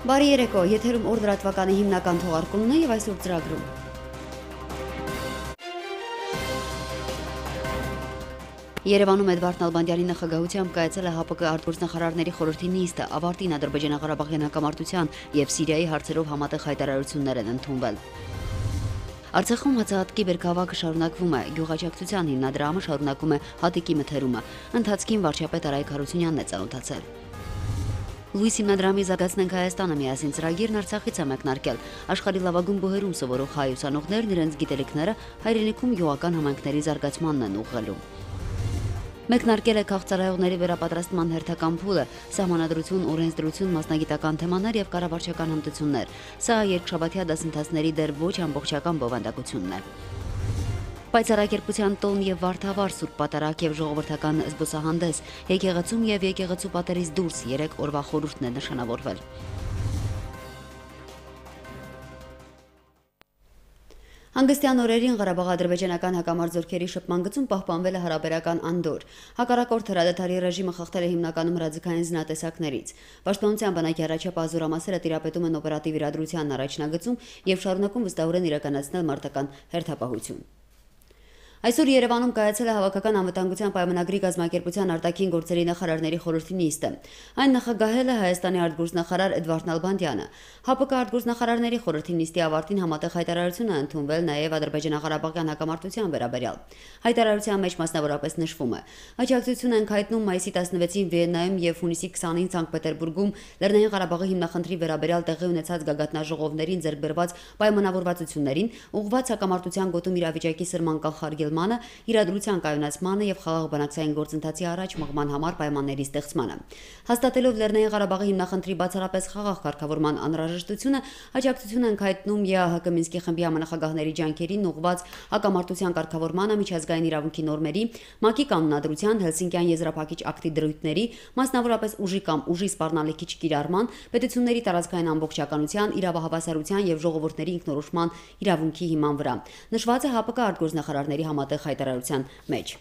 Բարի երեկո, եթերում օր լրատվականի հիմնական թողարկումն է եւ այսօր ծրագրում։ Երևանում Էդվարդ Նալբանդյանի նախագահությամբ կայացել է ՀԱՊԿ արտգործնախարարների խորհրդի նիստը, ավարտին Ադրբեջանա-Ղարաբաղյան հակամարտության եւ Սիրիայի հարցերով համատեղ հայտարարություններ են ընդունվել։ Արցախում հացահատկի բերքահավաքը շարունակվում է, գյուղաճակցության հիմնադրամը շարունակում է հատիկի մթերումը, ընթացքին վարչապետ Արայք Հարությունյանն է ծանոթացել։ Լուիս հիմնադրամի «Զարգացնենք Հայաստանը» միասին ծրագիրն Արցախից է մեկնարկել։ Աշխարհի լավագույն բուհերում սովորող հայ ուսանողներն իրենց գիտելիքները հայրենիքում գյուղական համայնքների զարգացմանն են ուղղելու։ Մեկնարկել է քաղցրահեղների վերապատրաստման հերթական փուլը, սահմանադրություն, օրենսդրություն, մասնագիտական թեմաներ եւ կառավարչական հմտություններ։ Սա երկշաբաթյա դասընթացների դեռ ոչ ամբողջական բովանդակությունն է։ Պայծառակերպության տոն եւ վարդավառ Սուրբ Պատարագ եւ ժողովրդական զբոսահանդես, եկեղեցում եւ եկեղեցու պատերից դուրս 3 օրվա խորհուրդն է նշանավորվել։ Հանգստյան օրերին Ղարաբաղ-ադրբեջանական հակամարտ շփման գծում պահպանվել է հարաբերական անդոր։ Հակառակորդ հրադադարի ռեժիմը խախտել է հիմնականում հրաձգային զինատեսակներից։ Պաշտպանության բանակի առաջապահ զորամասերը տիրապետում են օպերատիվ իրադրության առաջնագծում եւ շարունակում վստահորեն իրականացնել մարտական հերթապահություն։ Այսօր Երևանում կայացել է Հավաքական անվտանգության պայմանագրի կազմակերպության արտաքին գործերի նախարարների խորհրդի նիստը։ Այն նախագահել է Հայաստանի արտգործնախարար Էդվարդ Նալբանդյանը։ ՀԱՊԿ արտգործնախարարների խորհրդի նիստի ավարտին համատեղ հայտարարություն է ընդունվել նաև Ադրբեջանա-Ղարաբաղյան հակամարտության վերաբերյալ։ Հայտարարության մեջ մասնավորապես նշվում է. աջակցություն ենք հայտնում մայիսի 16-ին Վիեննայում եւ հունիսի 20-ին Սանկտ Պետերբուրգում Լեռնային Ղարաբաղի հիմնախնդրի վերաբերյալ տեղի ունեցած գագաթնաժողովներին ձեռք բերված պայմանավորվածություններին, ուղղված հակամարտության գոտում իրավիճակի սրման կանխարգելմանը, իրադրության կայունացմանը եւ խաղաղ բանակցային գործընթացի առաջ մղման համար պայմանների ստեղծմանը։ Հաստատելով Լեռնային Ղարաբաղի հիմնախնդրի բացառապես խաղաղ կարգավորման անհրաժեշտությունը, աջակցություն ենք հայտնում ԵԱՀԿ Մինսկի խմբի համանախագահների ջանքերին ուղղված հակամարտության կարգավորմանը, միջազգային իրավունքի նորմերի, ՄԱԿ-ի կանոնադրության, Հելսինկյան եզրափակիչ ակտի դրույթների, մասնավորապես ուժի կամ ուժի սպառնալիքի չկիրառման, պետությունների տարածքային ամբողջականության, իրավահավասարության եւ ժողովուրդների ինքնորոշման իրավունքի հիման վրա։ Նշված է ՀԱՊԿ արտգործնախարարների համատեղ հայտարարության մեջ։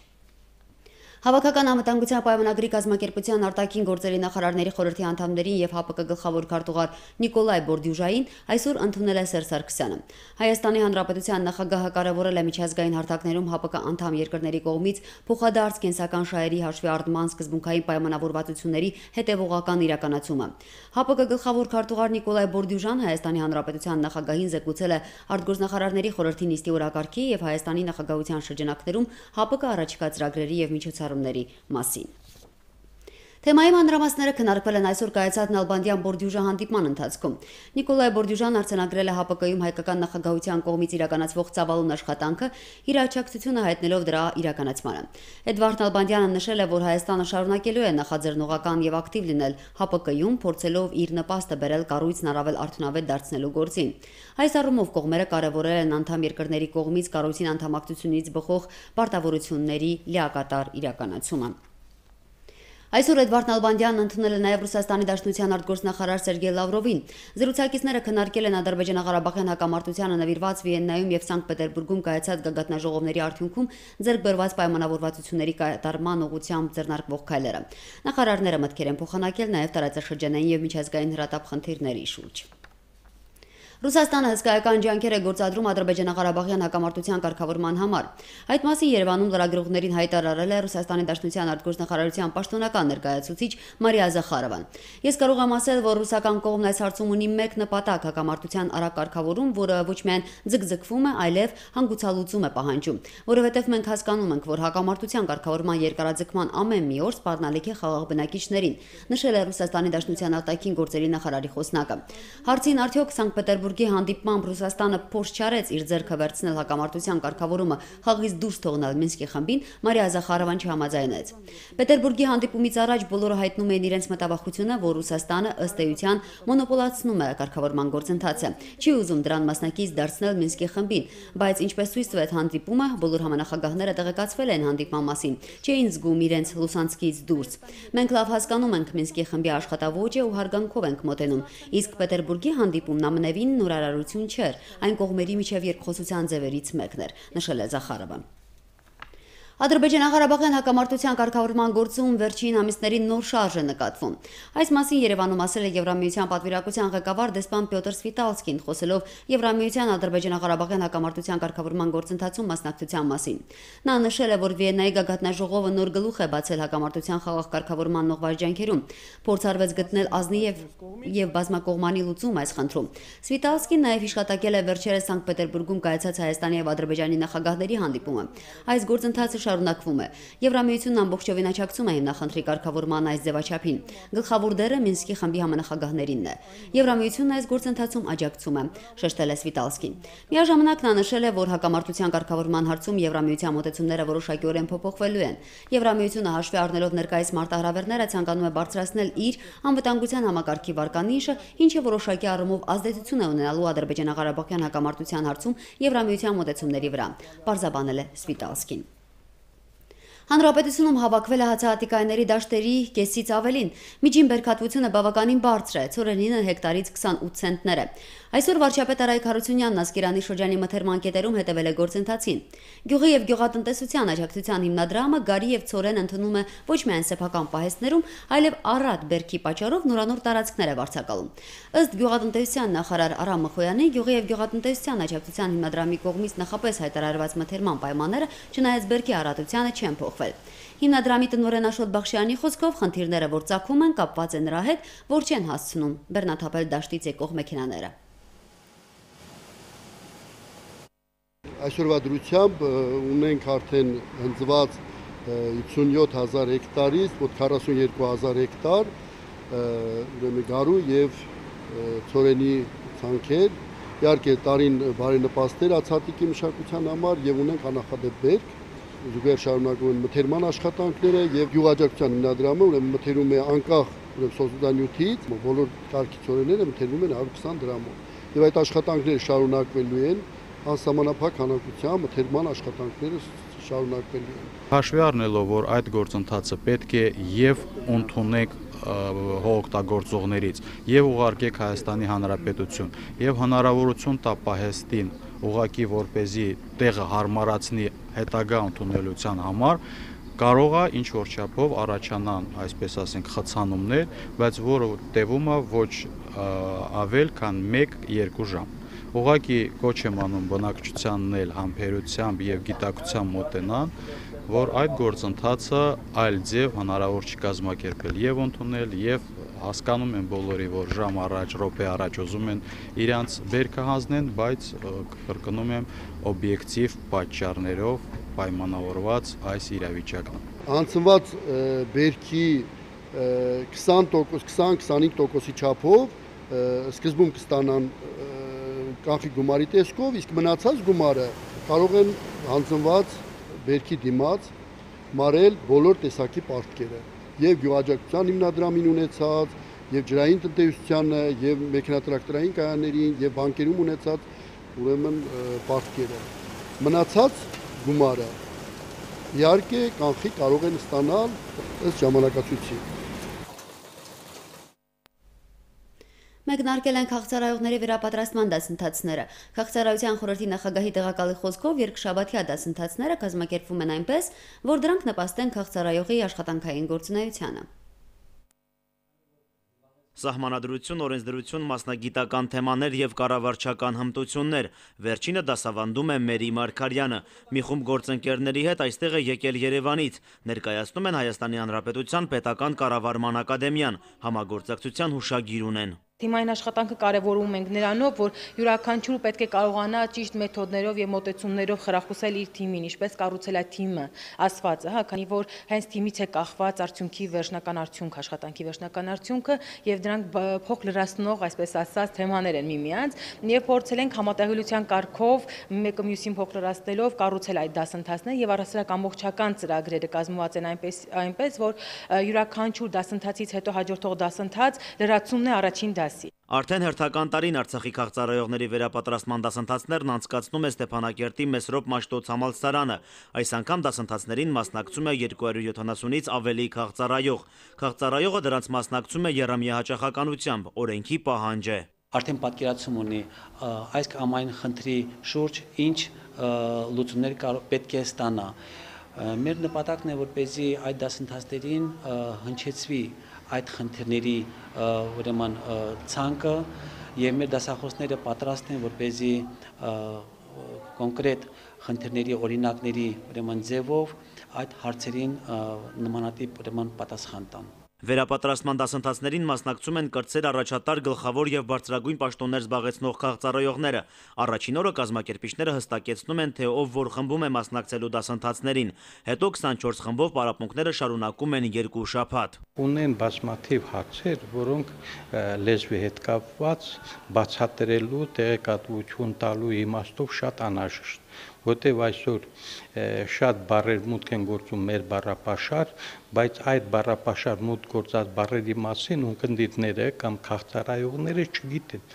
Հավաքական անվտանգության պայմանագրի կազմակերպության արտաքին գործերի նախարարների խորհրդի անդամներին եւ ՀԱՊԿ գլխավոր քարտուղար Նիկոլայ Բորդյուժային այսօր ընդունել է Սերժ Սարգսյանը։ Հայաստանի Հանրապետության նախագահը կարևորել է միջազգային հարթակներում ՀԱՊԿ անդամ երկրների կողմից փոխադարձ կենսական շահերի հաշվի առնման սկզբունքային պայմանավորվածությունների հետևողական իրականացումը։ ՀԱՊԿ գլխավոր քարտուղար Նիկոլայ Բորդյուժան Հայաստանի Հանրապետության նախագահին զեկուցել է արտգործնախարարների խորհրդի նիստի օրակարգի եւ Հայաստանի նախագահության շրջանակներում ՀԱՊԿ առաջիկա ծրագրերի եւ միջոցառումների մասին։ Թեմայի մանրամասները քննարկվել են այսօր կայացած Նալբանդյան Բորդյուժա հանդիպման ընթացքում։ Նիկոլայ Բորդյուժան արձանագրել է ՀԱՊԿ-ում հայկական նախագահության կողմից իրականացվող ծավալուն աշխատանքը, իր աջակցությունը հայտնելով դրա իրականացմանը։ Էդվարդ Նալբանդյանը նշել է, որ Հայաստանը շարունակելու է նախաձեռնողական եւ ակտիվ լինել ՀԱՊԿ-ում, փորձելով իր նպաստը բերել կառույցն առավել արդյունավետ դարձնելու գործին։ Այս առումով կողմերը կարևորել են անդամ երկրների կողմից կառույցին անդամակցությունից բխող պարտավորությունների լիակատար իրականացումը։ Այսօր Էդվարդ Նալբանդյանն ընդունել է նաև Ռուսաստանի Դաշնության արտգործնախարար Սերգեյ Լավրովին։ Զրուցակիցները քննարկել են Ադրբեջանա-Ղարաբաղյան հակամարտությանը նվիրված Վիեննայում եւ Սանկտ Պետերբուրգում կայացած գագաթնաժողովների արդյունքում ձեռք բերված պայմանավորվածությունների կատարման ուղղությամբ ձեռնարկվող քայլերը։ Նախարարները մտքեր են փոխանակել նաև տարածաշրջանային եւ միջազգային հրատապ խնդիրների շուրջ։ Ռուսաստանը հսկայական ջանքեր է գործադրում Ադրբեջանա-Ղարաբաղյան հակամարտության կարգավորման համար։ Այդ մասին Երևանում լրագրողներին հայտարարել է Ռուսաստանի Դաշնության արտգործնախարարության պաշտոնական ներկայացուցիչ Մարիա Զախարովան։ Ես կարող եմ ասել, որ ռուսական կողմն այս հարցում ունի մեկ նպատակ՝ հակամարտության արագ կարգավորում, որը ոչ միայն ձգձգվում է, այլև հանգուցալուծում է պահանջում, որովհետև մենք հասկանում ենք, որ հակամարտության կարգավորման երկարաձգման ամեն մի օր սպառնալիք է խաղաղ բնակիչներին, նշել է Ռուսաստանի Դաշնության արտաքին գործերի նախարարի խոսնակը։ Հարցին արդյոք Սանկտ Պետերբուրգի հանդիպմամբ Ռուսաստանը փորձ չարեց իր ձեռքը վերցնել հակամարտության կարգավորումը խաղից դուրս թողնել Մինսկի խմբին, Մարիա Զախարովան չհամաձայնեց։ Պետերբուրգի հանդիպումից առաջ բոլորը հայտնում էին իրենց մտավախությունը, որ Ռուսաստանը ըստ էության մոնոպոլացնում է կարգավորման գործընթացը, չի ուզում դրան մասնակից դարձնել Մինսկի խմբին, բայց ինչպես ցույց տվեց հանդիպումը, բոլոր համանախագահները տեղեկացվել են հանդիպման մասին, չէին զգում իրենց Լուսանցկից դուրս։ Մենք լավ հասկանում ենք Մինսկի խմբի աշխատավոճը ու հարգանքով ենք մոտենում, իսկ Պետերբուրգի հանդիպումն ամենևին նորարարություն չէր, այն կողմերի միջև երկխոսության ձևերից մեկն էր, նշել է Զախարովան։ Ադրբեջանա-Ղարաբաղյան հակամարտության կարգավորման գործում վերջին ամիսներին նոր շարժ է նկատվում։ Այս մասին Երևանում ասել է Եվրամիության պատվիրակության ղեկավար դեսպան Պյոտր Սվիտալսկին, խոսելով Եվրամիության Ադրբեջանա-Ղարաբաղյան հակամարտության կարգավորման գործընթացում մասնակցության մասին։ Նա նշել է, որ Վիեննայի գագաթնաժողովը նոր գլուխ է բացել հակամարտության խաղաղ կարգավորման նողվարժանքերում, փորձարվեց գտնել ազնի եւ բազմակողմանի լուծում այս խնդրում։ Սվիտալսկին նաև հիշատակել է վերջերս Սանկտ Պետերբուրգում կայացած Հայաստանի եւ Ադրբեջանի նախագահների հանդիպումը։ Այս գործընթացը շարունակվում է։ Եվրամիությունն ամբողջովին աջակցում է հիմնախնդրի կարգավորման այս ձևաչափին։ Գլխավոր դերը Մինսկի խմբի համանախագահներինն է։ Եվրամիությունն այս գործընթացում աջակցում է, շեշտել է Սվիտալսկին։ Միաժամանակ նա նշել է, որ հակամարտության կարգավորման հարցում Եվրամիության մոտեցումները որոշակիորեն փոփոխվելու են։ Եվրամիությունը հաշվի առնելով ներկայիս մարտահրավերները ցանկանում է բարձրացնել իր անվտանգության համակարգի վարկանիշը, ինչը որոշակի առումով ազդեցություն է ունենալու Ադրբեջանա-Ղարաբաղյան հակամարտության հարցում Եվրամիության մոտեցումների վրա, պարզաբանել է Սվիտալսկին։ Հանրապետությունում հավաքվել է հացահատիկայինների դաշտերի կեսից ավելին։ Միջին բերքատվությունը բավականին բարձր է, ցորենինը հեկտարից 28 ցենտներ է։ Այսօր վարչապետ Արայք Հարությունյանն Ասկերանի շրջանի մթերման կետերում հետևել է գործընթացին։ Գյուղի եւ գյուղատնտեսության աջակցության հիմնադրամը գարի եւ ցորեն ընդունում է ոչ միայն սեփական պահեստներում, այլև առատ բերքի պատճառով նորանոր տարածքներ է վարձակալում։ Ըստ գյուղատնտեսության նախարար Արամ Մխոյանի, գյուղի եւ գյուղատնտեսության աջակցության հիմնադրամի կողմից նախապես հայտարարված մթերման պայմանները, չնայած բերքի առատությանը, չեն փոխվել։ Հիմնադրամի տնօրեն Աշոտ Բախշյանի խոսքով խնդիրները, որ ծագում են, կապված են նրա հետ, որ չեն հասցնում բեռնաթափել դաշտից եկող մեքենաները։ Այսօրվա դրությամբ ունենք արդեն հնձված 57000 հեկտարից մոտ 42000 հեկտար գարու եւ ցորենի ցանքեր, իհարկե տարին բարենպաստներ հացահատիկի մշակության համար եւ ունենք աննախադեպ բերք, զուգահեռ շարունակվում են մթերման աշխատանքները եւ գյուղաաջակցության հիմնադրամը ուրեմն մթերում է անկախ սոցիալնյութից, բոլոր կարգի ցորենները մթերվում են 120 դրամով եւ այդ աշխատանքները շարունակվելու են անսահմանափակ քանակությամբ մթերման աշխատանքները շարունակվելու են։ Հաշվի առնելով, որ այդ գործընթացը պետք է եւ ընդունեք հողօգտագործողներից եւ ուղարկեք Հայաստանի Հանրապետություն եւ հնարավորություն տա պահեստին ուղակի որպեսզի տեղը հարմարացնի հետագա ընդունելության համար, կարող է ինչ որ չափով առաջանան, այսպես ասենք, խցանումներ, բայց որը տևում է ոչ ավել քան 1-2 ժամ։ Ուղղակի կոչ եմ անում բնակչությանն էլ համբերությամբ եւ գիտակցությամբ մոտենան, որ այդ գործընթացը այլ ձև հնարավոր չի կազմակերպել եւ ընդունել եւ հասկանում են բոլորի, որ ժամ առաջ, րոպե առաջ ուզում են իրանց բերքը հանձնեն, բայց կրկնում եմ օբյեկտիվ պատճառներով պայմանավորված այս իրավիճակն։ Անցնված բերքի 20-25% չափով սկզբում կստանան կանխիկ գումարի տեսքով, իսկ մնացած գումարը կարող են հանձնված բերքի դիմաց մարել բոլոր տեսակի պարտքերը եւ գյուղաաջակցության հիմնադրամին ունեցած եւ ջրային տնտեսությանը եւ մեքենատրակտորային կայաններին եւ բանկերում ունեցած ուրեմն պարտքերը մնացած գումարը իհարկե կանխիկ կարող են ստանալ ըստ ժամանակացույցի։ Մեկնարկել են քաղցրայողների վերապատրաստման դասընթացները։ Քաղցրայության խորհրդի նախագահի տեղակալի խոսքով երկշաբաթյա դասընթացները կազմակերպվում են այնպես, որ դրանք նպաստեն քաղցրայողի աշխատանքային գործունեությանը։ Սահմանադրություն, օրենսդրություն, մասնագիտական թեմաներ եւ կառավարչական հմտություններ։ Վերջինը դասավանդում է Մերի Մարգարյանը։ Մի խումբ գործընկերների հետ այստեղ է եկել Երևանից։ Ներկայացնում են Հայաստանի Հանրապետության Պետական կառավարման ակադեմիան։ Համագործակցության հուշագիր ունեն։ Թիմային աշխատանքը կարևորում ենք նրանով, որ յուրաքանչյուրը պետք է կարողանա ճիշտ մեթոդներով եւ մոտեցումներով խրախուսել իր թիմին, ինչպես կառուցել այդ թիմը, ասվածը, քանի որ հենց թիմից է կախված արդյունքի վերջնական արդյունք, աշխատանքի վերջնական արդյունքը եւ դրանք փոխ լրացնող, այսպես ասած, թեմաներ են միմյանց եւ փորձել ենք համատեղելիության կարգով մեկը մյուսին փոխ լրացնելով կառուցել այդ դասընթացները եւ առասարակ ամբողջական ծրագրերը կազմված են այնպես որ յուրաքանչյուր դասընթացից հետո հաջորդող դասընթաց լրացումն է առաջին դասի։ Արդեն հերթական տարին Արցախի քաղցրայողների վերապատրաստման դասընթացներն անցկացնում է Ստեփանակերտի Մեսրոպ Մաշտոց համալսարանը։ Այս անգամ դասընթացներին մասնակցում է 270-ից ավելի քաղցրայող։ Քաղցրայողը դրանց մասնակցում է եռամիահաճախականությամբ, օրենքի պահանջ է։ Արդեն պատկերացում ունի այս ամայն խնդրի շուրջ ինչ լուծումներ պետք է ստանա։ Մեր նպատակն է, որպեսզի այդ դասընթացներին հնչեցվի այդ խնդիրների ուրեմն ցանկը եւ մեր դասախոսները պատրաստ են, որպեսզի կոնկրետ խնդիրների օրինակների ուրեմն ձևով այդ հարցերին նմանատիպ ուրեմն պատասխան տան։ Վերապատրաստման դասընթացներին մասնակցում են կրտսեր առաջատար, գլխավոր եւ բարձրագույն պաշտոններ զբաղեցնող քաղծառայողները։ Առաջին օրը կազմակերպիչները հստակեցնում են, թե ով որ խմբում է մասնակցելու դասընթացներին։ Հետո 24 խմբով պարապմունքները շարունակում են 2 շաբաթ։ Ունեն բազմաթիվ հարցեր, որոնք լեզվի հետ կապված բացատրելու, տեղեկատվություն տալու իմաստով շատ անհրաժեշտ, որտեղ այսօր շատ բառեր մուտք են գործում մեր բառապաշար, բայց այդ բառապաշար մուտք գործած բառերի մասին ունկնդիրները կամ քաղցարայողները չգիտեն։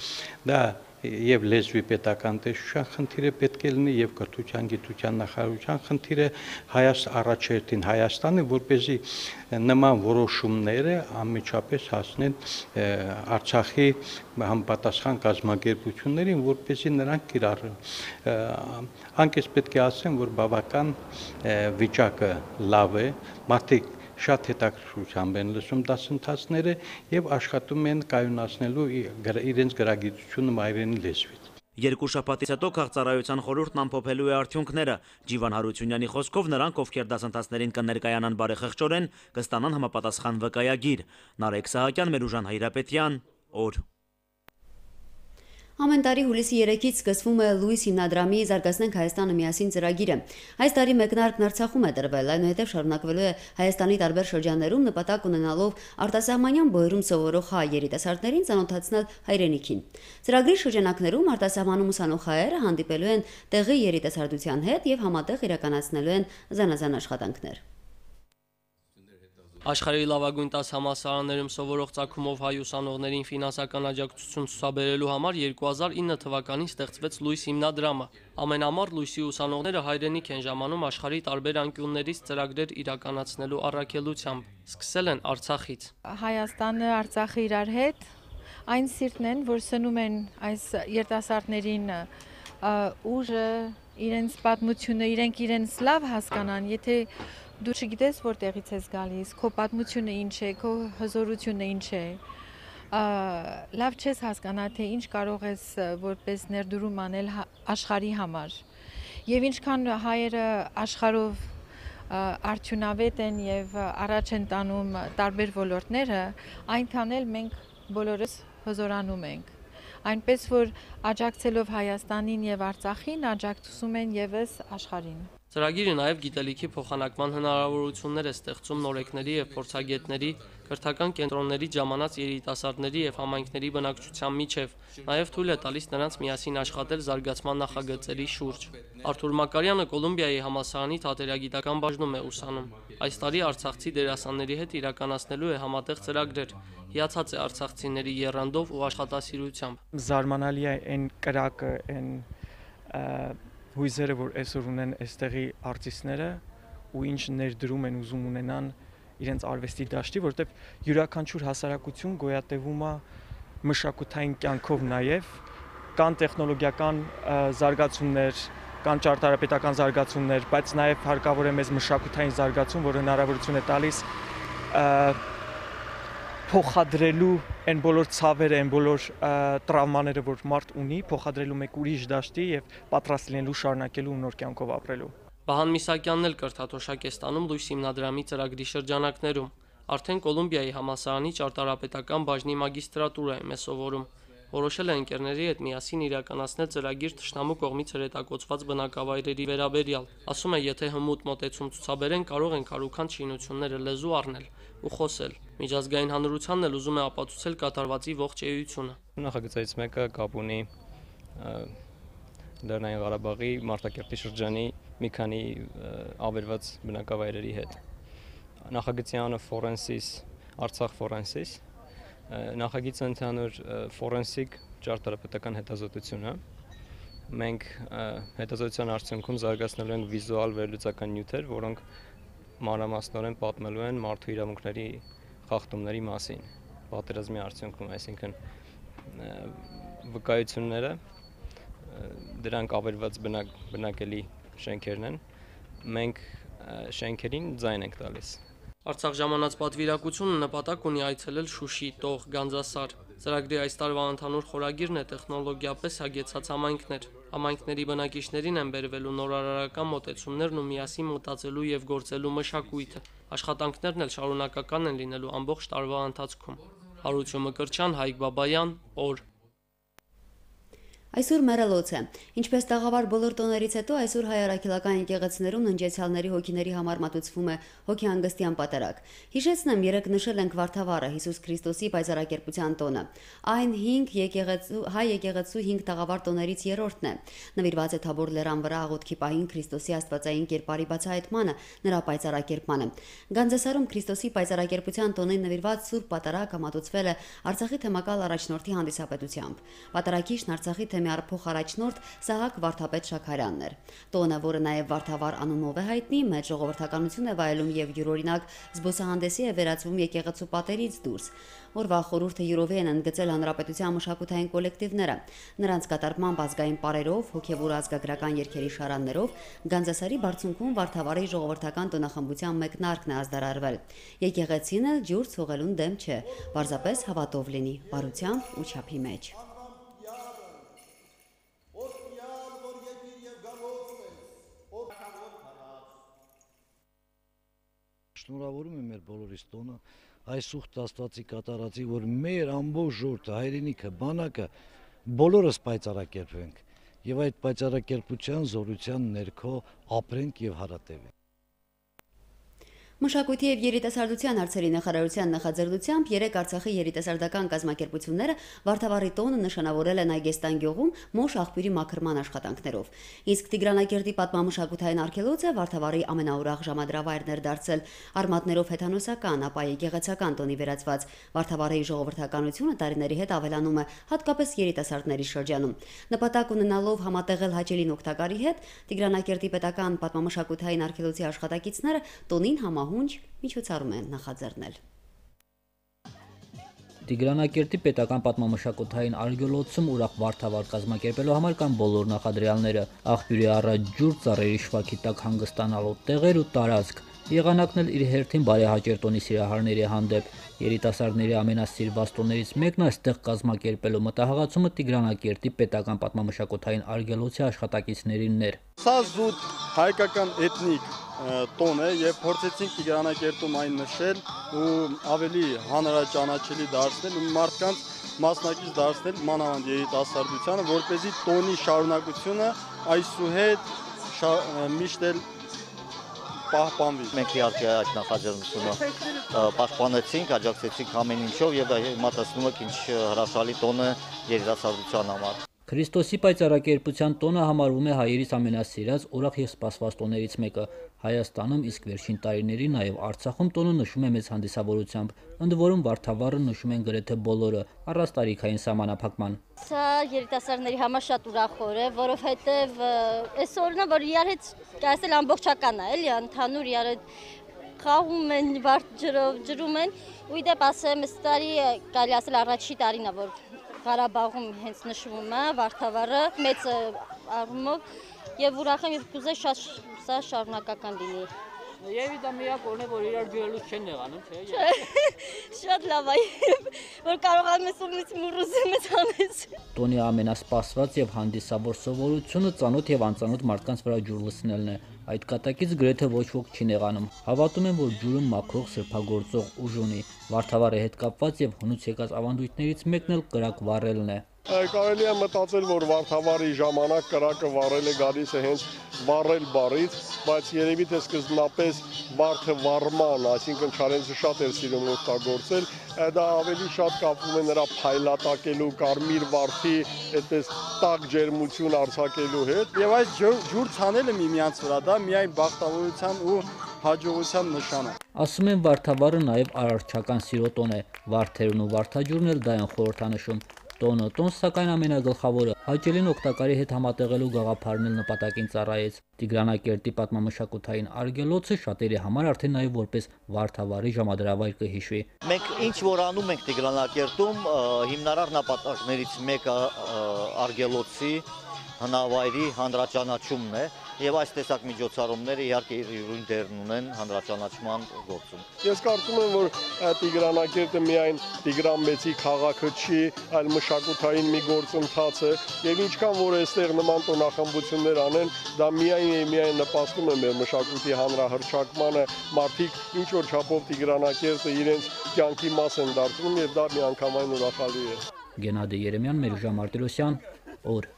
Դա եւ լեզվի պետական տեսչության խնդիրը պետք է լինի եւ կրթության գիտության նախարարության խնդիրը առաջերտին Հայաստանը, որպեսզի նման որոշումները անմիջապես հասնեն Արցախի համապատասխան կազմակերպություններին, որպեսզի նրանք կիրառեն։ Անկես պետք է ասեմ, որ բավական վիճակը լավ է, մարդիկ շատ հետաքրքրությամբ են լսում դասընթացները եւ աշխատում են կայունացնելու իրենց գրագիտությունը մայրենի լեզվից։ 2 շաբաթից հետո քաղծառայության խորհուրդն ամփոփելու է արդյունքները։ Ջիվան Հարությունյանի խոսքով նրանք, ովքեր դասընթացներին կներկայանան բարեխղճորեն, կստանան համապատասխան վկայագիր։ Նարեկ Սահակյան, Մերուժան Հայրապետյան, օր։ Ամեն տարի հուլիսի 3-ից սկսվում է Լուիս հիմնադրամի «Զարգացնենք Հայաստանը միասին» ծրագիրը։ Այս տարի մեկնարկն Արցախում է տրվել, այնուհետև շարունակվելու է Հայաստանի տարբեր շրջաններում, նպատակ ունենալով արտասահմանյան բոյերում սովորող հայ երիտասարդներին ծանոթացնել հայրենիքին։ Ծրագրի շրջանակներում արտասահմանում ուսանող հայերը հանդիպելու են տեղի երիտասարդության հետ եւ համատեղ իրականացնելու են զանազան աշխատանքներ։ Աշխարհի լավագույն 10 համալսարաններում սովորող ծագումով հայ ուսանողներին ֆինանսական աջակցություն ցուցաբերելու համար 2009 թվականին ստեղծվեց Լուիս հիմնադրամը։ Ամենամառ Լուիսի ուսանողները հայրենիք են ժամանում աշխարհի տարբեր անկյուններից ծրագրեր իրականացնելու առաքելությամբ։ Սկսել են Արցախից։ Հայաստանը, Արցախը իրար հետ այն սիրտն են, որ սնում են այս երիտասարդներին ուժը, իրենց պատմությունը, իրենք իրենց լավ հասկանան, եթե դու չգիտես որտեղից ես գալիս, քո պատմությունը ինչ է, քո հզորությունը ինչ է, լավ չես հասկանա, թե ինչ կարող ես որպես ներդրում անել աշխարհի համար։ Եվ ինչքան հայերը աշխարհով արդյունավետ են եւ առաջ են տանում տարբեր ոլորտները, այնքան էլ մենք բոլորս հզորանում ենք։ Այնպես որ աջակցելով Հայաստանին եւ Արցախին աջակցում են եւս աշխարհին։ Ծրագիրը նաև գիտելիքի փոխանակման հնարավորություններ է ստեղծում նորեկների եւ փորձագետների, կրթական կենտրոնների ժամանած երիտասարդների եւ համայնքների բնակչության միջև, նաև թույլ է տալիս նրանց միասին աշխատել զարգացման նախագծերի շուրջ։ Արթուր Մակարյանը Կոլումբիայի համալսարանի թատերագիտական բաժնում է ուսանում։ Այս տարի արցախցի դերասանների հետ իրականացնելու է համատեղ ծրագրեր։ Հիացած է արցախցիների եռանդով ու աշխատասիրությամբ։ Զարմանալի է այն կրակը, այն հույզերը, որ այսօր ունեն այստեղի արտիստները ու ինչ ներդրում են ուզում ունենան իրենց արվեստի դաշտի, որտեղ յուրաքանչյուր հասարակություն գոյատևում է մշակութային կյանքով նաև, կան տեխնոլոգիական զարգացումներ, կան ճարտարապետական զարգացումներ, բայց նաև հարկավոր է մեզ մշակութային զարգացում, որը հնարավորություն է տալիս փոխադրելու այն բոլոր ցավերը, այն բոլոր տրավմաները, որ մարդ ունի, փոխադրելու մեկ ուրիշ դաշտի եւ պատրաստ լինելու շարունակելու ու նոր կյանքով ապրելու։ Վահան Միսակյանն էլ կրթաթոշակ է ստանում Լուիս հիմնադրամի ծրագրի շրջանակներում։ Արդեն Կոլումբիայի համալսարանի ճարտարապետական բաժնի մագիստրատուրայում է սովորում։ Որոշել է ընկերների հետ միասին իրականացնել ծրագիր թշնամու կողմից հրետակոծված բնակավայրերի վերաբերյալ։ Ասում է, եթե հմուտ մոտեցում ցուցաբերեն, կարող են կարուքանդ շինությունները լեզու առնել ու խոսել։ Միջազգային հանրությանն էլ ուզում է ապացուցել կատարվածի ողջ էությունը։ Նախագծից մեկը կապ ունի Լեռնային Ղարաբաղի Մարտակերտի շրջանի մի քանի ավերված բնակավայրերի հետ։ Նախագծի անունը Forensis, Արցախ Forensis։ Նախագիծը ընդհանուր ֆորենսիկ ճարտարապետական հետազոտություն է։ Մենք հետազոտության արդյունքում զարգացնելու ենք վիզուալ վերլուծական նյութեր, որոնք մանրամասնորեն պատմելու են մարդու իրավունքների խախտումների մասին պատերազմի արդյունքում, այսինքն վկայությունները, դրանք ավերված բնակելի շենքերն են։ Մենք շենքերին ձայն ենք տալիս։ Արցախ ժամանած պատվիրակությունը նպատակ ունի այցելել Շուշի, Տող, Գանձասար։ Ծրագրի այս տարվա ընդհանուր խորագիրն է տեխնոլոգիապես հագեցած համայնքներ։ Համայնքների բնակիչներին են բերվելու նորարարական մոտեցումներն ու միասին մտածելու եւ գործելու մշակույթը։ Աշխատանքներն էլ շարունակական են լինելու ամբողջ տարվա ընթացքում։ Հարություն Մկրտչյան, Հայկ Բաբայան, օր։ Այսօր մեռելոց է։ Ինչպես տաղավար բոլոր տոներից հետո այսօր հայ առաքելական եկեղեցիներում ննջեցյալների հոգիների համար մատուցվում է հոգեհանգստյան պատարագ։ Հիշեցնեմ, երեկ նշել ենք Վարդավառը Հիսուս Քրիստոսի պայծառակերպության տոնը։ Այն 5 հայ եկեղեցու 5 տաղավար տոներից երրորդն է։ Նվիրված է Թաբոր լեռան վրա աղոթքի պահին Քրիստոսի աստվածային կերպարի բացահայտմանը, նրա պայծառակերպմանը։ Գանձասարում Քրիստոսի պայծառակերպության տոնին նվիրված սուրբ պատարագը մատուցվել է Արցախի թեմակալ առաջնորդի հանդիսապետությամբ։ Պատարագիչն Արցախի թեմի արփող առաջնորդ Սահակ Վարդապետ Շաքարյանն էր։ Տոնը, որը նաև Վարդավառ անունով է հայտնի, մեծ ժողովրդականություն է վայելում եւ յուրօրինակ զբոսահանդեսի է վերածվում եկեղեցու պատերից դուրս։ Օրվա խորհուրդը յուրովի են ընդգծել հանրապետության մշակութային կոլեկտիվները։ Նրանց կատարմամբ ազգային պարերով, հոգևոր ազգագրական երգերի շարաններով Գանձասարի բարձունքում Վարդավառի ժողովրդական տոնախմբության մեկնարկն է ազդարարվել։ Եկեղեցին էլ ջուր ցողելուն դեմ չէ, պարզապես հավատով լինի, բարությամբ ու չափի մեջ։ Շնորհավորում եմ մեր բոլորիս տոնը, այս ուխտ Աստվածի կատարածի, որ մեր ամբողջ ժողովուրդը, հայրենիքը, բանակը բոլորս պայծառակերպվենք եւ այդ պայծառակերպության զորության ներքո ապրենք եւ հարատևենք։ Մշակույթի եւ երիտասարդության հարցերի նախարարության նախաձեռնությամբ երեք Արցախի երիտասարդական կազմակերպությունները Վարդավառի տոնը նշանավորել են Այգեստան գյուղում մոշ աղբյուրի մաքրման աշխատանքներով։ Իսկ Տիգրանակերտի պատմամշակութային արգելոցը Վարդավառի ամենաուրախ ժամադրավայրն էր դարձել արմատներով հեթանոսական, ապա եկեղեցական տոնի վերածված Վարդավառի ժողովրդականությունը տարիների հետ ավելանում է, հատկապես երիտասարդների շրջանում։ Նպատակ ունենալով համատեղել հաճելին օգտակարի հետ, Տիգրանակերտի պետական պատմամշակութային արգելոցի աշխատակիցները տոնին հունջ միջոցառում են նախաձեռնել։ Տիգրանակերտի պետական պատմամշակութային արգելոցում ուրախ Վարդավառ կազմակերպելու համար կան բոլոր նախադրյալները՝ աղբյուրի առաջ ջուր, ծառերի շվաքի տակ հանգստանալու տեղեր ու տարածք։ Եղանակն էլ իր հերթին բարեհաճեր տոնի սիրահարների հանդեպ։ Երիտասարդների ամենասիրված տոներից մեկն այստեղ կազմակերպելու մտահղացումը Տիգրանակերտի պետական պատմամշակութային արգելոցի աշխատակիցներինն էր։ Սա զուտ հայկական էթնիկ տոն է եւ փորձեցինք Տիգրանակերտում այն նշել ու ավելի հանրաճանաչելի դարձնել ու մարդկանց մասնակից դարձնել մանավանդ երիտասարդությանը, որպեսզի տոնի շարունակությունը այսուհետ միշտ էլ պահպանվի։ Մենք իհարկե այդ նախաձեռնությունը պաշտպանեցինք, աջակցեցինք ամեն ինչով եւ հիմա տեսնում եք ինչ հրաշալի տոն է երիտասարդության համար։ Քրիստոսի պայծառակերպության տոնը համարվում է հայերիս ամենասիրած, ուրախ եւ սպասված տոներից մեկը։ Հայաստանում իսկ վերջին տարիներին նաեւ Արցախում տոնը նշում է մեծ հանդիսավորությամբ, ընդ որում Վարդավառը նշում են գրեթե բոլորը, առանց տարիքային սահմանափակման։ Սա երիտասարդների համար շատ ուրախ օր է, որովհետեւ այս օրն է, որ իրար հետ կասել ամբողջական է, էլի, ընդհանուր իրար հետ խաղում են, վարդ ջրում են, ու իդեպ ասեմ, այս տարի կարելի ասել առաջի տարին է, որ Ղարաբաղում հենց նշվում է Վարդավառը մեծ առումով եւ ուրախ եմ եւ կուզեի շատ սա շարունակական լինի։ Եվ դա միակ օրն է, որ իրար ջուրելուց չեն եղանում, չէ՞։ Շատ լավ է, որ կարողանում ես ումից մուրուզեմ ես անես։ Տոնի ամենասպասված եւ հանդիսավոր սովորությունը ծանոթ եւ անծանոթ մարդկանց վրա ջուր լցնելն է։ Այդ կատակից գրեթե ոչ ոք չի նեղանում։ Հավատում են, որ ջուրը մաքրող սրբագործող ուժ ունի։ Վարդավառի հետ կապված եւ հնուց եկած ավանդույթներից մեկն էլ կրակ վառելն է։ Կարելի է մտածել, որ Վարդավառի ժամանակ կրակը վառել է գալիս է հենց վառել բառից, բայց երևի թե սկզբնապես վարդը վառման, այսինքն Չարենցը շատ էր սիրում օգտագործել, դա ավելի շատ կապվում է նրա փայլատակելու, կարմիր վարդի այդպես տաք ջերմություն արձակելու հետ։ Եվ այս ջուր ցանելը միմյանց վրա դա միայն բախտավորության ու հաջողության նշան է։ Ասում են Վարդավառը նաև արարչական սիրո տոն է, վարդերն ու վարդաջուրն էլ դա են խորհրդանշում։ Տոնը, սակայն ամենագլխավորը, հաճելին օգտակարի հետ համատեղելու գաղափարն էլ նպատակին ծառայեց։ Տիգրանակերտի պատմամշակութային արգելոցը շատերի համար արդեն նաև որպես Վարդավառի ժամադրավայր կհիշվի։ Մենք ինչ որ անում ենք Տիգրանակերտում, հիմնարար նպատակներից մեկը արգելոցի հնավայրի հանրաճանաչումն է, եւ այս տեսակ միջոցառումները իհարկե յուրին դեր ունեն հանրաճանաչման գործում։ Ես կարծում եմ, որ Տիգրանակերտը միայն Տիգրան Մեծի քաղաքը չի, այլ մշակութային մի գործընթաց է, եւ ինչքան որ այստեղ նման տոնախմբություններ անեն, դա միայն նպաստում է մեր մշակույթի հանրահռչակմանը, մարդիկ ինչ որ չափով Տիգրանակերտը իրենց կյանքի մաս են դարձնում եւ դա միանգամայն ուրախալի է։ Գենադի Երեմյան, Մերժա Մարտիրոսյան, օր։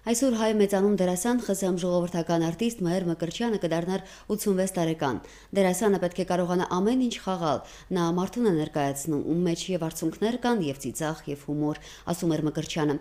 Այսօր հայ մեծանուն դերասան ԽՍՀՄ ժողովրդական արտիստ Մհեր Մկրտչյանը կդառնար 86 տարեկան։ Դերասանը պետք է կարողանա ամեն ինչ խաղալ։ Նա մարդուն է ներկայացնում, ում մեջ եւ արցունքներ կան, եւ ծիծաղ, եւ հումոր, ասում էր Մկրտչյանը։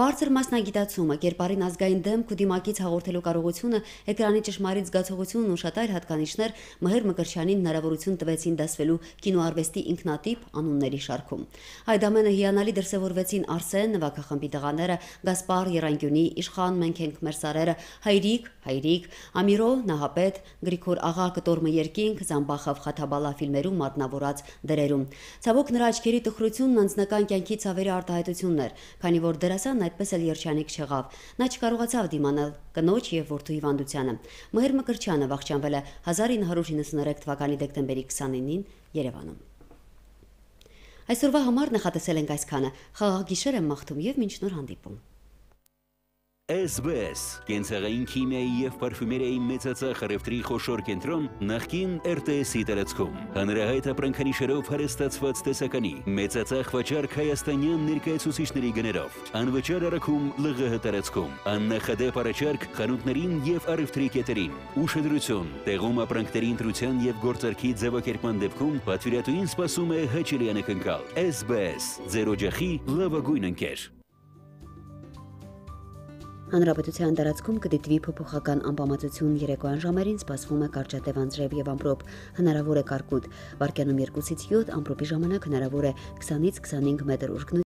Բարձր մասնագիտացումը, կերպարին ազգային դեմք ու դիմակից հաղորդելու կարողությունը, էկրանի ճշմարիտ զգացողությունն ու շատ այլ հատկանիշներ Մհեր Մկրտչյանին հնարավորություն տվեցին դասվելու կինոարվեստի ինքնատիպ անունների շարքում։ Այդ ամենը հիանալի դրսևորվեցին Արսեն նվագախմբի տղաները, Գասպար Երանգյունի, Իշխան մենք ենք մեր սարերը, Հայրիկ, Ամիրո, Նահապետ, Գրիգոր աղա կտորմը երկինք, Զամբախով Խաթաբալա ֆիլմերում մատնավորած դերերում։ Ցավոք նրա աչքերի տխրությունն անձնական կյանքի ցավերի արտահայտությունն էր, քանի որ դերասանն այդպես էլ երջանիկ չեղավ։ Նա չկարողացավ դիմանալ կնոջ եւ որդու հիվանդությանը։ Մհեր Մկրտչյանը վախճանվել է 1993 թվականի դեկտեմբերի 29-ին Երևանում։ Այսօրվա համար նախատեսել ենք այսքանը։ Խաղաղ գիշեր եմ մաղթում եւ մինչ նոր հանդիպում։ SBS կենցաղային քիմիայի եւ պարֆումերիայի մեծածախ առևտրի խոշոր կենտրոն նախկին RTS-ի տարածքում հանրահայտ ապրանքանիշերով հարստացված տեսականի մեծածախ վաճառք հայաստանյան ներկայացուցիչների գներով անվճար առաքում ԼՂՀ տարածքում աննախադեպ առաջարկ խանութներին եւ առևտրի կետերին ուշադրություն տեղում ապրանքների ընտրության եւ գործարքի ձևակերպման դեպքում պատվիրատուին սպասում է հաճելի անակնկալ SBS ձեր օջախի լավագույն ընկեր։ Հանրապետության տարածքում կդիտվի փոփոխական անբավարարություն երեկոյան ժամերին սպասվում է կարճատև անձրև եւ ամպրոպ, հնարավոր է կարկուտ, վարկյանում 2-ից 7, ամպրոպի ժամանակ հնարավոր է 20-ից 25 մետր ուժգնություն։